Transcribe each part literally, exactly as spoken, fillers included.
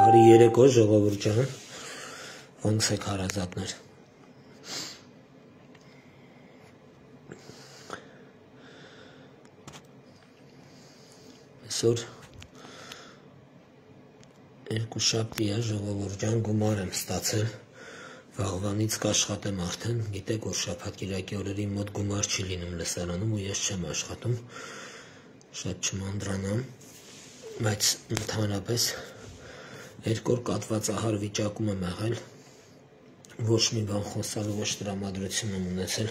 Բարի երեկո ժողովուրդ ջան, ոնց եք հարազատներ։ Այսօր երկուշաբթի է ժողովուրդ ջան, գումար եմ ստացել, վաղվանից կաշխատեմ արդեն, գիտեք որ շաբաթ կիրակի օրերի մոտ գումար չի լինում լսարանում ու ես չեմ աշխատում, շատ չմանդրանամ, բայց ընդհանրապես երկու օր կատվածահար վիճակում եմ եղել, ոչ մի բան խոսալ, ոչ տրամադրություն եմ ունեցել,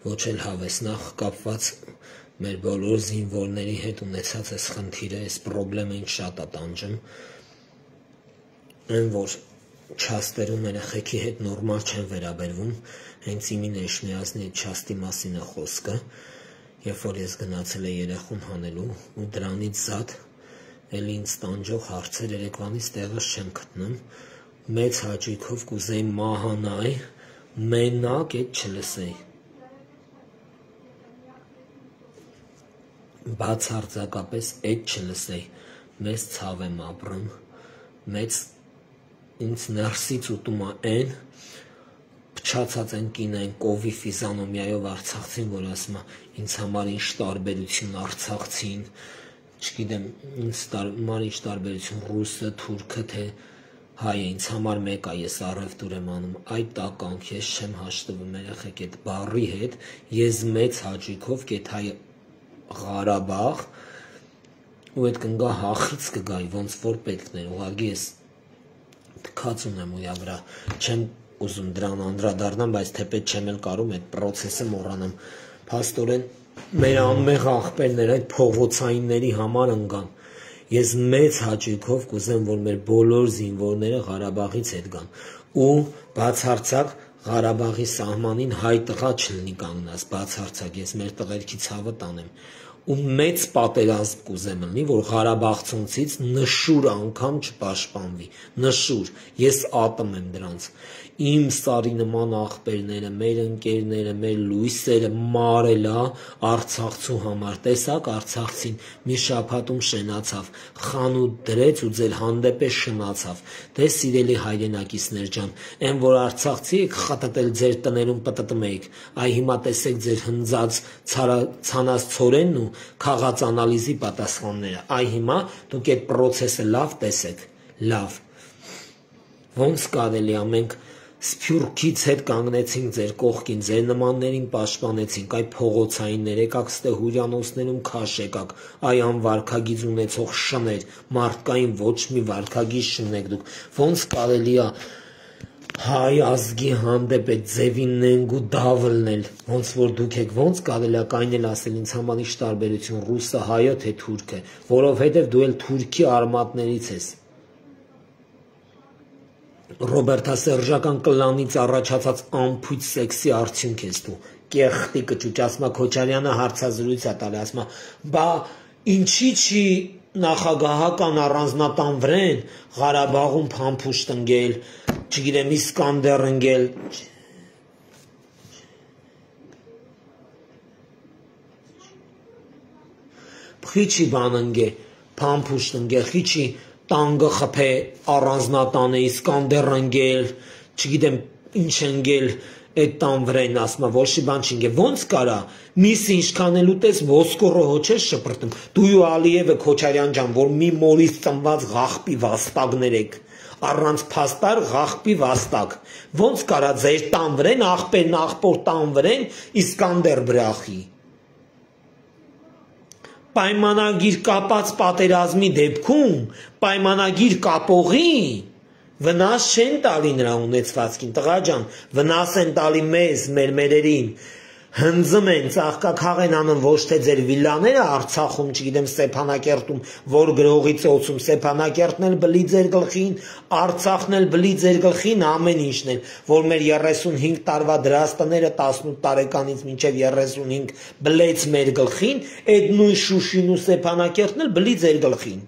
ոչ էլ հավես, նախ կապված մեր բոլոր զինվորների հետ ունեցած այս խնդիրը, այս պրոբլեմը ինձ շատ է տանջում, այն որ չաստերում երեխեքի հետ նորմալ չեն վերաբերվում, հենց իմին Էշմիածնի չաստի մասին է խոսքը, երբ որ ես գնացել եմ երեխուն հանելու ու դրանից զատ էլի ինձ տանջող հարցեր երեկվանից տեղս չեմ գտնում, մեծ հաճույքով կուզեի մահանալ, մենակ էդ չլսեի։ Բացարձակապես էդ չլսեի, մեծ ցավ եմ ապրում, մեծ ինձ ներսից ուտում է այն, փչացած են կինային կովի ֆիզանոմիայով արցախցին, որ ասում է ինձ համար ինչ տարբերություն արցախցին, չգիտեմ ինձ համար ինչ տարբերություն ռուսը, թուրքը, թե հայը, ինձ համար մեկ է, ես առևտուր եմ անում, այդ տականք ես չեմ հաշտվում երեխեք այդ բառի հետ, ես մեծ հաճույքով կեթայ Ղարաբաղ ու այդ կնգա հախից կգայի, ոնց որ պետքն էր, ուղղակի ես թքած ունեմ ուրա վրա, չեմ ուզում դրան անդրադառնամ, բայց թեպետ չեմ էլ կարում այդ պրոցեսը մոռանամ, փաստորեն մեր անմեղ աղբերներ այդ փողոցայինների համար ընկան, ես մեծ հաճույքով կուզեմ, որ մեր բոլոր զինվորները Ղարաբաղից հետ գան ու բացարձակ Ղարաբաղի սահմանին հայ տղա չլինի կանգնած, բացարձակ ես մեր տղերքի ցավը տանեմ ու մեծ պատերազմ կուզեմ լինի, որ Ղարաբաղցունցից նշուր անգամ չպաշտպանվի, նշուր, ես ատում եմ դրանց, իմ սարի նման աղբերները, մեր ընկերները, մեր լույսերը մարելա Արցախցու համար, տեսակ Արցախցին մի շաբաթում շենացավ, խանութ դրեց ու ձեր հանդեպ է շնացավ, դե սիրելի հայրենակիցներ ջան, այն որ Արցախցի եք խտտել ձեր տներում պտտում եք, այ հիմա տեսեք ձեր հնձած ցանած ցորենն ու քաղաց անալիզի պատասխանները, այ հիմա դուք այդ պրոցեսը լավ տեսեք, լավ, ոնց կարելի է մենք Սփյուռքից հետ կանգնեցինք ձեր կողքին, ձեր նմաններին պաշտպանեցինք, այ փողոցայիններ եկաք ստե հյուրանոցներում քաշ եկաք, այ անվարքագիծ ունեցող շներ, մարդկային ոչ մի վարքագիծ չունեք դուք, ոնց կարելի է հայ ազգի հանդեպ այդ ձևիննենք ու դավլնել, ոնց որ դուք եք, ոնց կարելի է կայնել ասել ինձ համար ինչ տարբերություն ռուսը, հայը, թե թուրքը, որովհետև դու էլ թուրքի արմատներից ես։ Ռոբերտասերժական կլանից առաջացած ամփույթ սեքսի արդյունք ես դու, կեղտի կճուճ, ասма Քոչարյանը հարցազրույց է տալի, ասма, բա ինչի չի նախագահական առանձնատան վրեն Ղարաբաղում փամփուշտ ընկել, չգիտեմ Իսկանդեր ընկել, խիչի բան ընկե, փամփուշտ ընկել, խիչի տանգը խփե առանձնատանը Իսկանդեր ընկել, չգիտեմ ինչ ընկել այդ տան վրան ասма ոչ մի բան չընկել, ոնց կարա միս ինչքան էլ ուտես ոսկորը հո չես շպրտում, դու ու Ալիևը Քոչարյան ջան, որ մի մորից ծնված ղախպի վաստակներ եք, առանց փաստար ղախպի վաստակ, ոնց կարա ձեր տան վրան աղբերն աղբոր տան վրան Իսկանդեր բրախի Պայմանագիր կապած պատերազմի դեպքում, պայմանագիր կապողի, վնաս չեն տալի նրա ունեցվածքին, տղա ջան, վնաս են տալի մեզ, մեր մերերին, հնձում են, ծաղկաքաղ են անում ոչ թե ձեր վիլլաները Արցախում, չգիտեմ Ստեփանակերտում, որ գրողի ծոցում, Ստեփանակերտն էլ բլի ձեր գլխին, Արցախն էլ բլի ձեր գլխին, ամեն ինչն էլ, որ մեր երեսունհինգ տարվա դրաստները տասնութ տարեկանից մինչև երեսունհինգ բլեց մեր գլխին, այդ նույն Շուշին ու Ստեփանակերտն էլ բլի ձեր գլխին,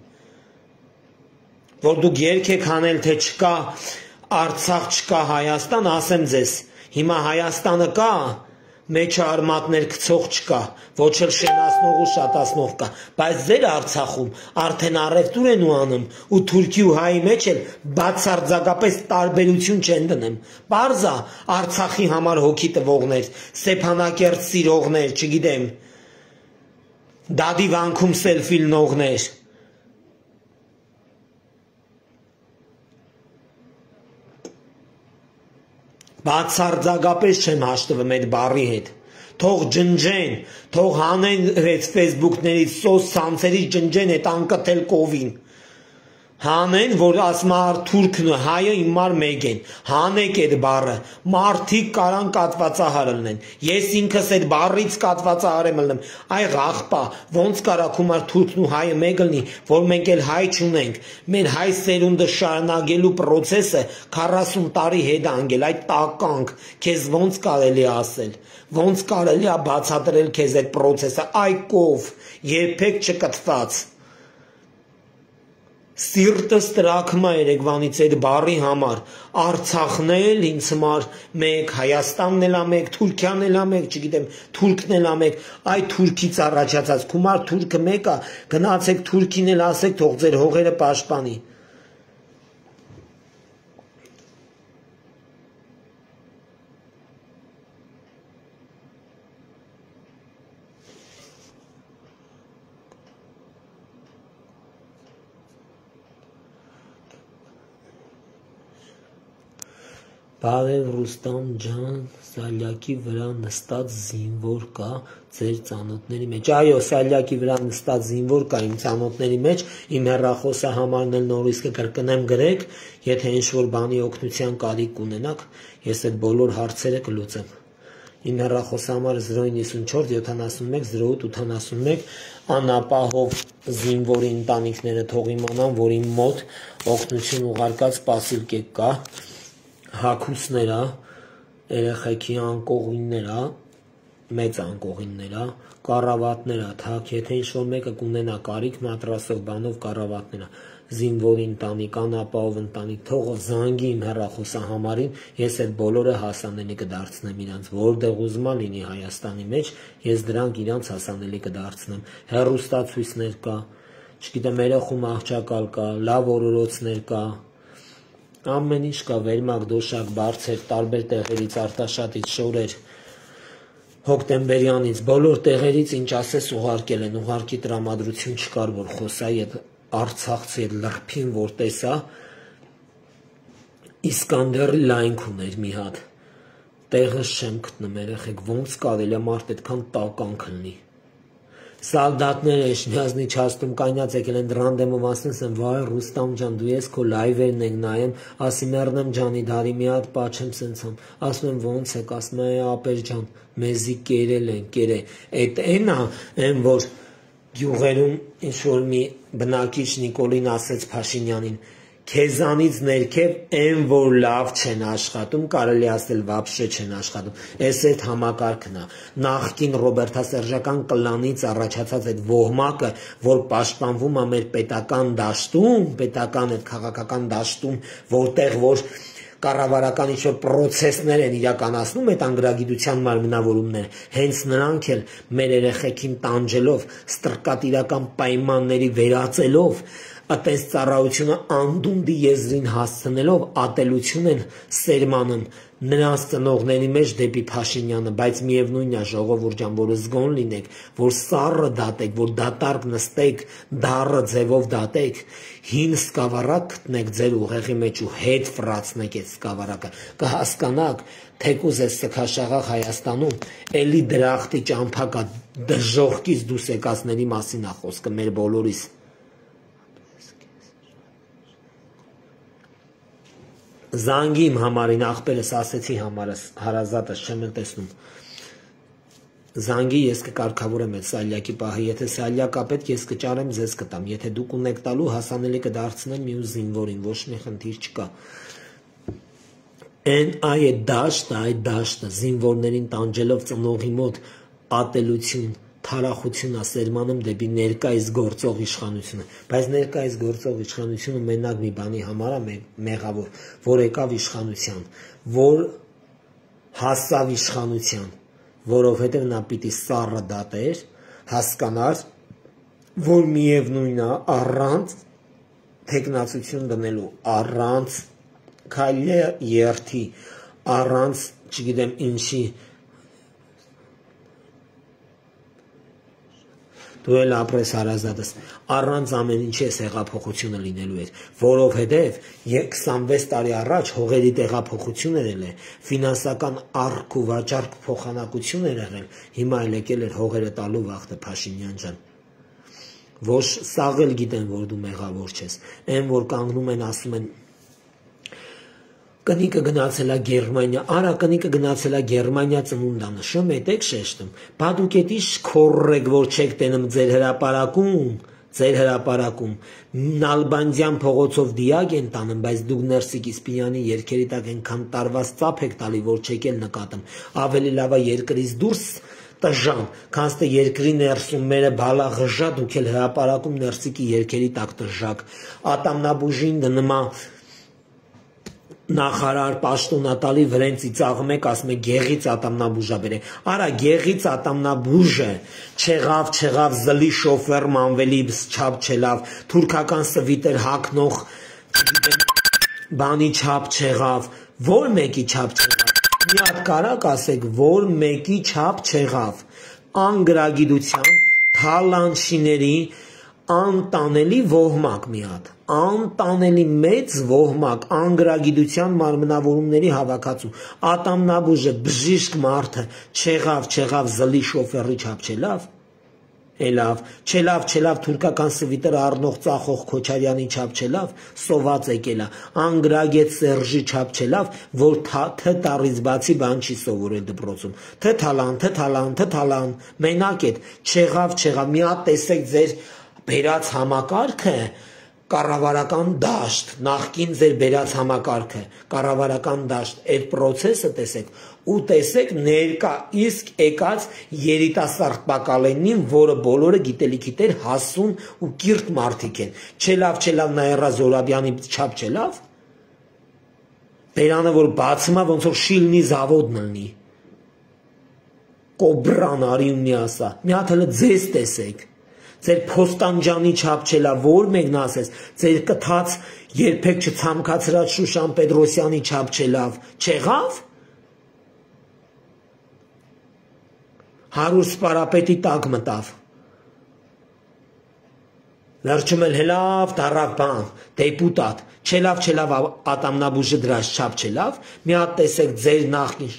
որ դուք երգ եք հանել, թե չկա Արցախ, չկա Հայաստան, ասեմ ձեզ, հիմա Հայաստանը կա, մեջը արմատներ գցող չկա, ոչ էլ շենացնող ու շատացնող կա, բայց ձեր Արցախում արդեն առևտուր են ու անում ու Թուրքի ու հայի մեջ էլ բացարձակապես տարբերություն չեն դնում։ Պարզ է Արցախի համար հոգի տվողներ, Ստեփանակերտ սիրողներ, չգիտեմ, Դադի վանքում սելֆի լնողներ։ Բացարձակապես չեմ հաշտվում այդ բառի հետ։ Թող ջնջեն, թող հանեն այդ ֆեյսբուքներից, սոցցանցերից ջնջեն այդ անկթել կովին։ Հանեն, որ ասում է թուրքն ու հայը իմար մեկ են։ Հանեք այդ բառը։ Մարդիկ կարան կատվածահար լինեն։ Ես ինքս այդ բառից կատվածահար եմ լինում։ Այ աղբա, ոնց կարա քումար թուրքն ու հայը մեկ լինի, որ մենք էլ հայ չունենք։ Մեր հայ սերունդը շարունակելու process-ը քառասուն տարի հետ անգել, այդ տականք, քեզ ոնց կարելի է ասել։ Ոնց կարելի է բացատրել քեզ այդ process-ը, այ կով, երբեք չկթված։ Սիրտս տրաքում է երեկվանից այդ բառի համար, Արցախն էլ ինձ համար մեկ, Հայաստանն էլ է մեկ, Թուրքիան էլ է մեկ, չգիտեմ, Թուրքն էլ է մեկ, այ Թուրքից առաջացած, քումար թուրքը մեկ է, գնացեք Թուրքին էլ ասեք, թող ձեր հողերը պաշտպանի։ Բարև Ռուստամ ջան, սալյակի վրա նստած զինվոր կա ձեր ծանոթների մեջ։ Այո, սալյակի վրա նստած զինվոր կա իմ ծանոթների մեջ, իմ հեռախոսը համարն էլ նորից կկրկնեմ գրեք, եթե ինչ-որ բանի օգնության կարիք ունենաք, ես այդ բոլոր հարցերը կլուծեմ։ Իմ հեռախոսը համարը զրո իննսունչորս յոթանասունմեկ զրո ութ ութանասունմեկ, անապահով զինվորի ընտանիքները թող իմանան, որ իմ մոտ օգնություն ուղարկած սպասիլ կա, հագուստները, երեխեքի անկողինները, մեծ անկողինները, կառավատները, թակ, եթե ինչ-որ մեկը կունենա կարիք մատրասով բանով կառավատները, զինվորի ընտանիք, անապահով ընտանիք, թող զանգի իմ հեռախոսը համարին, ես այդ բոլորը հասանելի կդարձնեմ իրանց, որտեղ ուզում լինի Հայաստանի մեջ, ես դրանք իրանց հասանելի կդարձնեմ, հեռուստացույցներ կա, չգիտեմ, երեխում աղջակալ կա, լավ օրորոցներ կա, ամեն ինչ կա, վերմակ, դոշակ, բարձեր, տարբեր տեղերից, Արտաշատից, Շորեր, Հոկտեմբերյանից, բոլոր տեղերից ինչ ասես ուղարկել են, ուղարկի տրամադրություն չկար, որ խոսայի այդ Արցախցի այդ լրփին, որ տեսա, Իսկանդերի լայնք ուներ մի հատ, տեղս չեմ գտնում երեխեք, ոնց կարելի է մարդ այդքան տականք լինի։ Սալդատները Էշմիածնի չաստում կանյաց եկել են դրանդեմով ասնես են, վայ Ռուստամ ջան, դու ես քո լայվերն ենք նայեմ, ասի մեռնեմ ջանի դարի մի հատ պաչեմ սենցամ, ասում եմ ոնց եք, ասում է ապեր ջան, մեզի կերել են, կերե, այդ են է, են որ գյուղերում ինչ-որ մի բնակիչ Նիկոլին ասեց Փաշինյանին, քեզանից ներքև են որ լավ չեն աշխատում, կարելի ասել վաբշե չեն աշխատում, ես այդ համակարգն է, նախկին ռոբերտասերժական կլանից առաջացած այդ ոհմակը, որ պաշտպանվում է մեր պետական դաշտում, պետական այդ քաղաքական դաշտում, որտեղ որ կառավարական ինչ-որ պրոցեսներ են իրականացնում այդ անգրագիտության մարմնավորումները, հենց նրանք էլ մեր երեխեքին տանջելով, ստրկատիրական պայմանների վերածելով, այդպես ծառայությունը անդունդի եզրին հասցնելով ատելություն են սերմանում նրանց ծնողների մեջ դեպի Փաշինյանը, բայց միևնույնն է ժողովուրդ ջան, որ զգոն լինեք, որ սառը դատեք, որ դատարկ նստեք, դառը ձևով դատեք, հին սկավառակ գտնեք ձեր ուղեղի մեջ ու հետ ֆրացնեք այդ սկավառակը, կհասկանաք, թեկուզ է սքաշաղախ Հայաստանում, էլի դրախտի ճամփակա դժողքից դուրս եկածների մասին է խոսքը մեր բոլորիս։ Զանգի իմ համարին աղբերս ասեցի համարս հարազատս չեմ էլ տեսնում զանգի ես կկարգավորեմ այդ սալյակի պահը եթե սալյակ ապետք ես կճարեմ ձեզ կտամ եթե դուք ունեք տալու հասանելի կդարձնեմ մյուս զինվորին ոչ մի խնդիր չկա այն այդ դաշտը այդ դաշտը զինվորներին տանջելով ծնողի մոտ ատելություն թարախություն ասերմանում դեպի ներկայիս գործող իշխանությունը, բայց ներկայիս գործող իշխանությունը մենակ մի բանի համար է մեղավոր, որ եկավ իշխանության, որ հասավ իշխանության, որովհետև նա պիտի սառը դատեր, հասկանար, որ միևնույն է առանց թեկնածություն դնելու, առանց քայլի երթի, առանց, չգիտեմ ինչի, դու էլ ապրես հարազատս, առանց ամեն ինչի այս հեղափոխությունը լինելու էր, որովհետև քսանվեց տարի առաջ հողերի տեղափոխություն էր եղել, ֆինանսական առք ու վաճառք փոխանակություն էր եղել, հիմա էլ եկել էր հողերը տալու վախտը Փաշինյան ջան։ Ոչ սաղ էլ գիտեն, որ դու մեղավոր չես, այն որ կանգնում են ասում են կնիկը գնացել է Գերմանիա, արա կնիկը գնացել է Գերմանիա ծնունդանշը, մետեք շեշտում, բա դուք էդ ինչ քորրեք, որ չեք տենում ձեր հրապարակում, ձեր հրապարակում, Նալբանդյան փողոցով դիակ են տանում, բայց դուք Ներսիկ Իսպինյանի երգերի տակ այնքան տարված ծափ եք տալի, որ չեք էլ նկատում, ավելի լավ է երկրից դուրս տժան, քանց թե երկրի ներսում մերը բալա ղժա, դուք էլ հրապարակում Ներսիկի երգերի տակ տժակ, ատամնաբուժին դնումա նախարար պաշտոնատալի վրեն ծիծաղում եք, ասում եք գեղից ատամնաբուժա բերե, արա գեղից ատամնաբուժը, չեղավ, չեղավ, զլի շոֆեր մանվելի չապ չելավ, թուրքական սվիտեր հակնող, բանի չապ չեղավ, որ մեկի չապ չեղավ, մի հատ կարակ ասեք, որ մեկի չապ չեղավ, անգրագիտության, թալանշիների, անտանելի ոհմակ մի հատ, անտանելի մեծ ոհմակ, անգրագիտության մարմնավորումների հավաքածու, ատամնաբուժը, բժիշկ մարդը, չեղավ, չեղավ, զլի շոֆերի չապ չելավ, Էլավ, չելավ, չելավ, թուրքական սվիտեր առնող ծախող Քոչարյանի չապ չելավ, սոված եկելա, անգրագետ Սերժի չապ չելավ, որ թե տառից բացի բան չի սովորել դպրոցում, թե թալան, թե թալան, թե թալան, մենակ էդ, չեղավ, չեղավ, մի հատ տեսեք ձեր բերած համակարգը, կառավարական դաշտ, նախկին ձեր բերած համակարգը, կառավարական դաշտ, այդ պրոցեսը տեսեք, ու տեսեք ներկա իսկ եկած երիտասարդ բակալենին, որը բոլորը գիտելիքի տեր հասուն ու կիրթ մարդիկ են, չելավ, չելավ Նաիրա Զորաբյանի չապ չելավ, բերանը որ բացում է, ոնց որ շիլնի զավոդն լինի, կոբրան արի ու մի ասա, մի հատ հլը ձեզ տեսեք, ձեր Փոստանջանի չապ չելավ, որ մեկն ասես, ձեր կթած երբեք չցամքացրած Շուշան Պետրոսյանի չապ չելավ, չեղավ, հարուր սպարապետի տակ մտավ, վերջում էլ հելավ, դարավ բան, դեպուտատ, չելավ, չելավ ատամնաբուժը դրած չապ չելավ, մի հատ տեսեք ձեր նախկին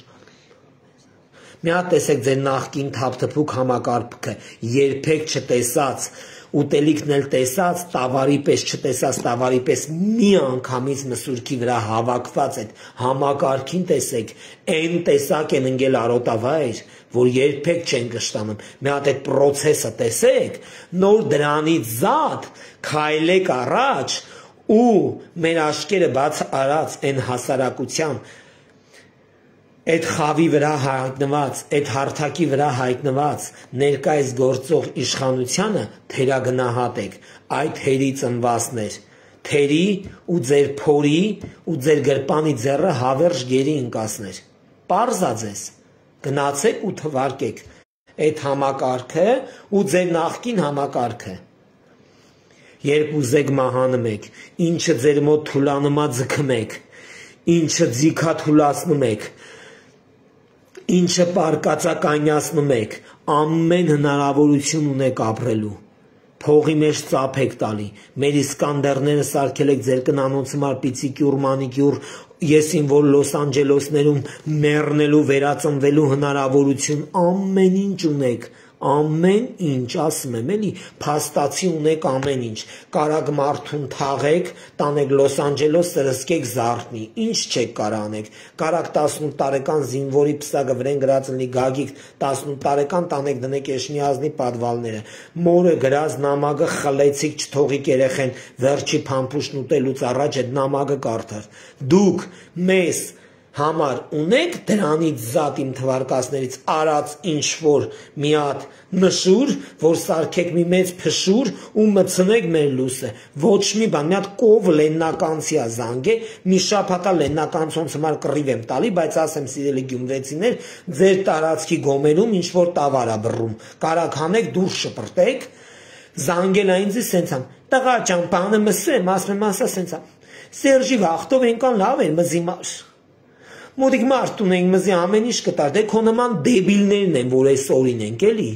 Մի հատ տեսեք ձեր նախկին թափթփուկ համակարգը, երբեք չտեսած, ուտելիքն էլ տեսած, տավարի պես չտեսած, տավարի պես մի անգամից մսուրքի վրա հավաքված այդ համակարգին տեսեք, այն տեսակ են ընկել արոտավայր, որ երբեք չեն կշտանում, մի հատ այդ պրոցեսը տեսեք, նոր դրանից զատ քայլեք առաջ ու մեր աշկերը բաց արած այն հասարակության այդ խավի վրա հայտնված, այդ հարթակի վրա հայտնված ներկայիս գործող իշխանությանը թերագնահատեք, այդ հերի ծնվածներ, թերի ու ձեր փորի ու ձեր գրպանի ձեռը հավերժ գերի ընկասներ, պարզա ձեզ, գնացեք ու թվարկեք այդ համակարգը ու ձեր նախկին համակարգը, երբ ուզեք մահանում եք, ինչը ձեր մոտ թուլանումա ձգում եք, ինչը ձիքա թուլացնում եք, Ինչը պարկածականյացնում եք, ամեն հնարավորություն ունեք ապրելու, փողի մեջ ծափ եք տալի, մեր Իսկանդերները սարքել եք ձեր կնանոց համար պիցիկյուր, մանիկյուր, եսին որ Լոս Անջելոսներում մեռնելու, վերածնվելու հնարավորություն, ամեն ինչ ունեք, ամեն ինչ, ասում եմ էլի, փաստացի ունեք ամեն ինչ, կարակ մարդուն թաղեք, տանեք Լոս Անջելոս, սրսկեք զարթնի, ինչ չեք կարանեք, կարակ տասնութ տարեկան զինվորի պսակը վրեն գրած լինի Գագիկ, տասնութ տարեկան տանեք դնեք Էշմիազնի պատվալները, մորը գրած նամակը խլեցիք, չթողիք երեխեն, վերջի փամփուշտն ուտելուց առաջ այդ նամակը կարդար, դուք մեզ համար ունեք դրանից զատ իմ թվարկածներից արած ինչ-որ մի հատ նշուր, որ սարքեք մի մեծ փշուր ու մցնեք մեր լույսը, ոչ մի բան, մի հատ կով լեննականցիա զանգ է, մի շաբաթա լեննականցոնց համար կռիվ եմ տալի, բայց ասեմ սիրելի գյումրեցիներ, ձեր տարածքի գոմերում ինչ-որ տավար ա բռում, կարակ հանեք դուրս շպրտեք, զանգել ա ինձ սենցան, տղա ջան, բանը մսեմ, ասում եմ ասա սենցան, Սերժի վախտով ենքան լավ էր մզի մար, մոտիկ մարդ ունենք մզի ամեն ինչ կտար, դե քո նման դեբիլներն են, որ այս օրին ենք էլի,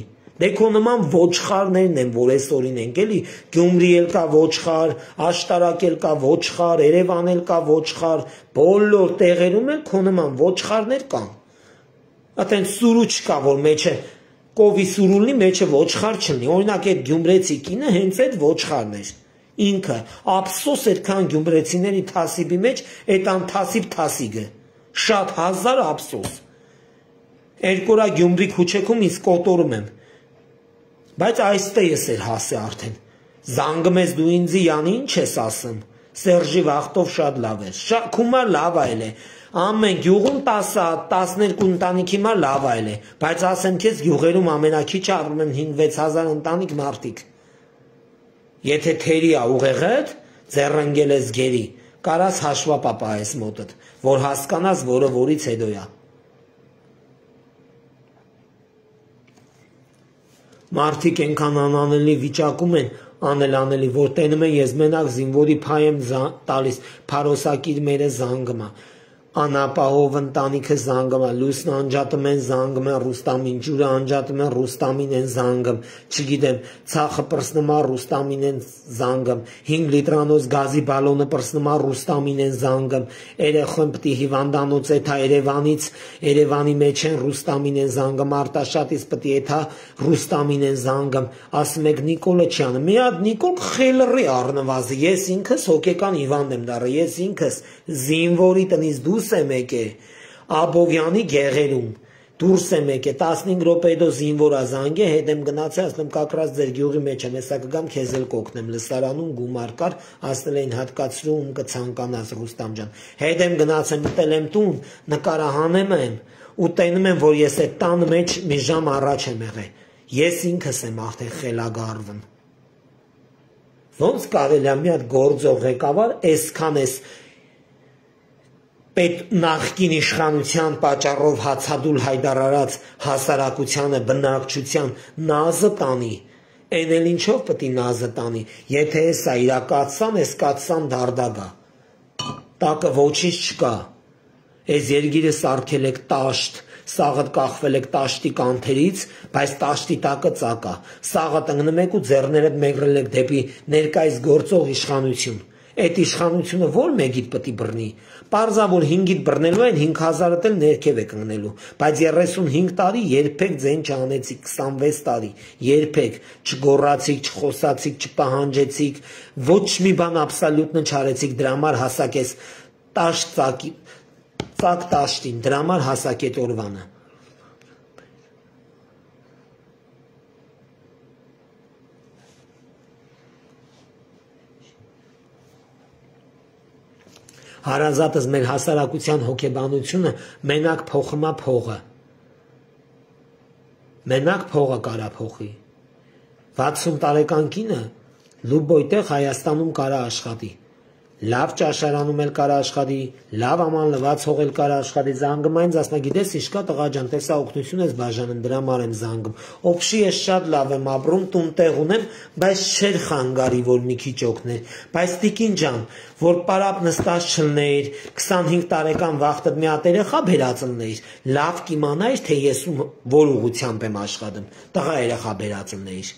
դե քո նման ոչխարներն են, որ այս օրին ենք էլի, Գյումրի էլ կա ոչխար, Աշտարակ էլ կա ոչխար, Երևան էլ կա ոչխար, բոլոր տեղերում էլ քո նման ոչխարներ կան, ատեն սուրու չկա, որ մեջը կովի սուրուլնի մեջը ոչխար չլնի, օրինակ այդ գյումրեցի կինը հենց այդ ոչխարն էր, ինքը, ափսոս այդքան գյումրեցիների թասիբի մեջ, այդ անթասիբ թասիգը, շատ հազար ափսոս, երկորա Գյումրի քուչեքում ինձ կոտորում եմ, բայց այստե ես էր հասե արդեն, զանգում ես դու ինձի յանի ինչ ես ասում, Սերժի վախտով շատ լավ էր, քումար լավ այլ է, ամեն գյուղում տասը, տասներկու ընտանիքի մար լավ այլ է, բայց ասեմ քեզ գյուղերում ամենակիչը ապրում են հինգ-վեց հազար ընտանիք մարդիկ, եթե թերի ա ուղեղդ, ձեռընկել ես գերի, կարաս հաշվա պապայես մոտդ, որ հասկանաս, որը որից հետո ա։ Մարդիկ ենքան անանելի վիճակում են, անել անելի, որ տենում են ես մենակ զինվորի փայ եմ տալիս, փարոսակիր մերը զանգում ա, անապահով ընտանիքը զանգում ա, լույսն անջատում են զանգում են Ռուստամին, ջուրը անջատում են Ռուստամին են զանգում, չգիտեմ, ցախը պրսնում ա Ռուստամին են զանգում, հինգ լիտրանոց գազի բալոնը պրսնում ա Ռուստամին են զանգում, երեխան պտի հիվանդանոց էթա Երևանից, Երևանի մեջ են Ռուստամին են զանգում, Արտաշատից պտի էթա Ռուստամին են զանգում, ասում եք Նիկոլոչյանը, մի հատ Նիկոլ խելռի առնվազը, ես ինքս հոգեկան հիվանդ եմ դառը, ես ինքս զինվորի տնից դուրս եմ եկե, Աբովյանի գեղերում, դուրս եմ եկե, տասնհինգ րոպե հետո զինվոր ա զանգե, հետ եմ գնացել, ասում եմ կակրած ձեր գյուղի մեջ եմ, հեսա կգամ քեզ էլ կօգնեմ, լսարանում գումար կար, ասել էին հատկացրու ում կցանկանաս Ռուստամ ջան, հետ եմ գնացել, մտել եմ տուն, նկարահանում եմ, ու տենում եմ, որ ես այդ տան մեջ մի ժամ առաջ եմ եղել, ես ինքս եմ արդեն խելագարվում, ոնց կարելի ա մի հատ գործող ղեկավար այսքան էս պետ նախկին իշխանության պատճառով հացադուլ հայտարարած հասարակությանը բնակչության նազը տանի, այն էլ ինչով պտի նազը տանի, եթե էսա իրակացան, էս կացան դարդագա, տակը ոչինչ չկա, էս երգիրը սարքել եք տաշտ, սաղըտ կախվել եք տաշտի կանթերից, բայց տաշտի տակը ծակա, սաղըտ ընգնում եք ու ձեռներդ մեղրել եք դեպի ներկայիս գործող իշխանություն, այդ իշխանությունը որ մեկիդ պտի բռնի, պարզա որ հինգիդ բռնելու են հինգ հազարդ էլ ներքև եք ընկնելու, բայց երեսունհինգ տարի երբեք ձեն չանեցիք, քսանվեց տարի, երբեք չգոռացիք, չխոսացիք, չպահանջեցիք, ոչ մի բան աբսոլյուտնը չարեցիք, դրա համար հասակ ես տաշտ ծակի, ծակ տաշտին, դրա համար հասակ էդ օրվանը։ Հարազատս մեր հասարակության հոգեբանությունը մենակ փոխումա փողը, մենակ փողը կարա փոխի, վաթսուն տարեկան կինը լուբոյ տեղ Հայաստանում կարա աշխատի, լավ ճաշարանում էլ կարա աշխատի, լավ աման լված հող էլ կարա աշխատի, զանգում այնց ասնա գիտես ինչ կա տղա ջան, տեսա օգնություն ես բաժանում, դրա համար եմ զանգում, օբշի ես շատ լավ եմ ապրում, տուն տեղ ունեմ, բայց չէր խանգարի, որ մի քիչ օգներ, բայց տիկին ջան, որ պարապ նստած չլներ, քսանհինգ տարեկան վախտդ մի հատ երեխա բերածններ, լավ կիմանայր, թե ես որ ուղղությամբ եմ աշխատում, տղա երեխա բերածններ,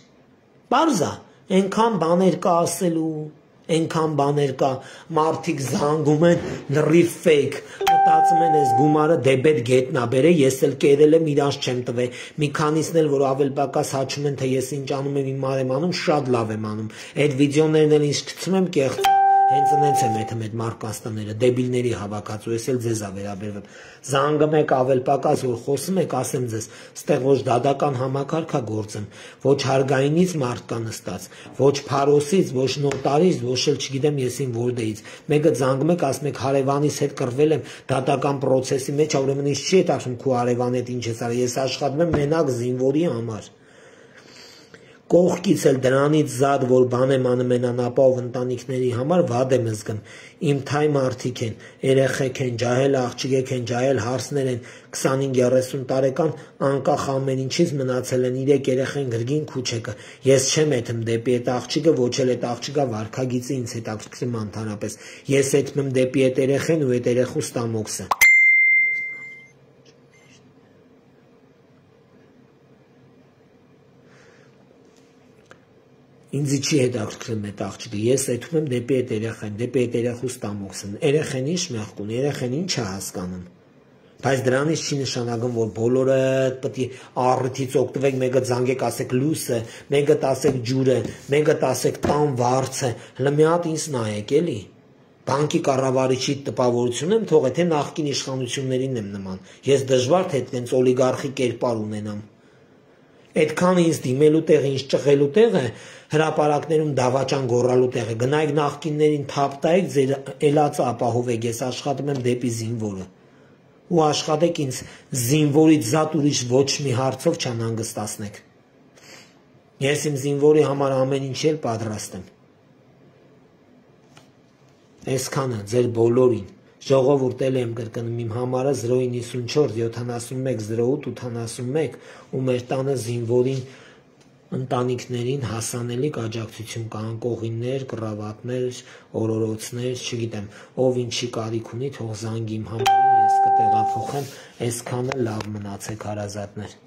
պարզա, այնքան բաներ կա ասելու, այնքան բաներ կա, մարդիկ զանգում են լրիվ ֆեյք, մտածում են ես գումարը դեբետ գետնա բերե, ես էլ կերել եմ իրանց չեմ տվել, մի քանիսն էլ որ ավել պակաս հաչում են, թե ես ինչ անում եմ իմ մարեմ անում, շատ լավ եմ անում, այդ վիդեոներն էլ ինչ գցում եմ կեղծ, Հենց նենց եմ այդ այդ մարդկանց տները, դեբիլների հավաքածու, ես էլ ձեզ ա վերաբերվում։ Զանգում եք ավել պակաս, որ խոսում եք, ասեմ ձեզ, ստեղ ոչ դատական համակարգ ա գործում, ոչ հարգայինից մարդ կա նստած, ոչ փարոսից, ոչ նոտարից, ոչ էլ չգիտեմ եսին որտեղից։ Մեկը զանգում եք, ասում եք հարևանիս հետ կռվել եմ դատական process-ի մեջ, ուրեմն ինձ չի հետաքրքրում քո հարևանի հետ ինչ ես արել, ես աշխատում եմ մենակ զինվորի համար։ Կողքից էլ դրանից զատ, որ բան եմ անում են անապահով ընտանիքների համար, վատ եմ զգում։ Իմ թայ մարդիկ են, երեխեք են, ջահել աղջիկ են, ջահել հարսներ են, քսանհինգ երեսուն տարեկան, անկախ ամեն ինչից մնացել են իրեք երեխեն գրգին քուչեկը։ Ես չեմ եթում դեպի այդ աղջիկը, ոչ էլ այդ աղջիկը վարքագիծի ինձ հետաքրքրում ընդհանրապես։ Ես եթում եմ դեպի այդ երեխեն ու այդ երեխու ստամոքսը։ Ինձ չի հետաքրքրում այդ աղջիկը, ես եթում եմ դեպի այդ երեխեն, դեպի այդ երեխու ստամոքսն։ Երեխեն ինչ մեղք ունի, երեխեն ինչ է հասկանում։ Բայց դրանից չի նշանակում, որ բոլորը պետք է առիթից օգտվեք, մեկը զանգեք, ասեք լույսը, մեկը ասեք ջուրը, մեկը ասեք տան վարձը, հələ մի հատ ինձ նայեք էլի։ Բանկի կառավարիչի տպավորություն եմ թողել, թե նախկին իշխանություններին եմ նման։ Ես դժվար թե այդպես օլիգարխի կերպար ունենամ։ Այդքան ինձ դիմելու տեղը, ինձ ճղելու տեղը, հրապարակներում դավաճան գոռալու տեղը, գնայք նախկիններին թափ տայեք, ձեր էլածը ապահովեք, ես աշխատում եմ դեպի զինվորը։ Ու աշխատեք ինձ զինվորից զատ ուրիշ ոչ մի հարցով չանհանգստացնեք։ Ես իմ զինվորի համար ամեն ինչ էլ պատրաստ եմ։ Այսքանը ձեր բոլորին ժողովուրդ էլ եմ կրկնում իմ համարը զրո իննսունչորս յոթանասունմեկ զրո ութ ութանասունմեկ ու մեր տանը զինվորին ընտանիքներին հասանելիք աջակցություն կան կողիններ, կռավատներ, օրորոցներ, չգիտեմ, ով ինչի կարիք ունի, թող զանգի իմ համարին, ես կտեղափոխեմ, այսքանը լավ մնացեք հարազատներ։